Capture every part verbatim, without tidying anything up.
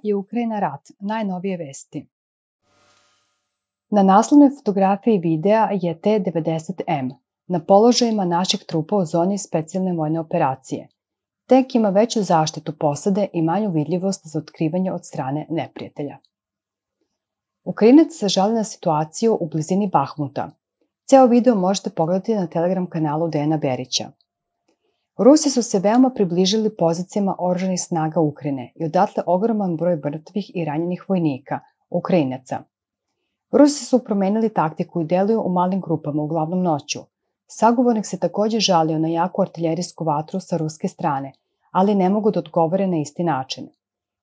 je Ukrajina rat, najnovije vesti. Na naslovnoj fotografiji videa je T devedeset M na položajima naših trupa u zoni specijalne vojne operacije. Tank ima veću zaštitu posade i manju vidljivost za otkrivanje od strane neprijatelja. Ukrajinac se žali na situaciju u blizini Bahmuta. Ceo video možete pogledati na Telegram kanalu Dejana Berića. Rusi su se veoma približili pozicijama oružanih snaga Ukrajine i odatle ogroman broj mrtvih i ranjenih vojnika, Ukrajinaca. Rusi su promenili taktiku i deluju u malim grupama, uglavnom noću. Sagovornik se takođe žalio na jaku artiljerijsku vatru sa ruske strane, ali ne mogu da odgovore na isti način.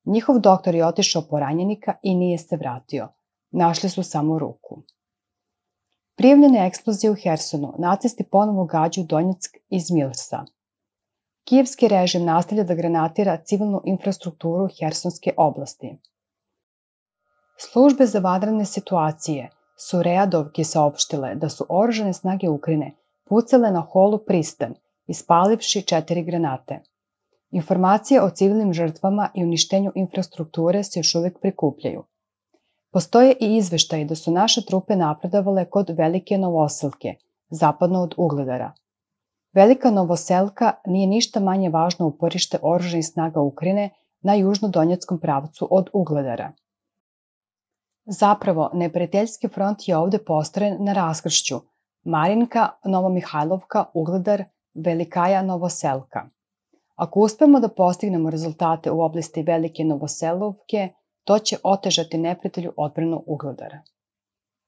Njihov doktor je otišao po ranjenika i nije se vratio. Našli su samo ruku. Prijavljene eksplozije u Hersonu, nacisti ponovo gađaju Donjeck iz Milsa. Kijevski režim nastavlja da granatira civilnu infrastrukturu Hersonske oblasti. Službe za vanredne situacije su Readovki saopštile da su oružane snage Ukrajine pucale na holu Pristan, ispalivši četiri granate. Informacije o civilnim žrtvama i uništenju infrastrukture se još uvek prikupljaju. Postoje i izveštaji da su naše trupe napredovale kod Velike Novoselke, zapadno od Ugledara. Velika Novoselka nije ništa manje važno uporište oružanih snaga Ukrajine na južno-donjeckom pravcu od Ugledara. Zapravo, neprijateljski front je ovde postrojen na raskršću Marinka, Novomihajlovka, Ugledar, Velikaja, Novoselka. Ako uspemo da postignemo rezultate u oblasti Velike Novoselovke, to će otežati neprijatelju odbranu Ugledara.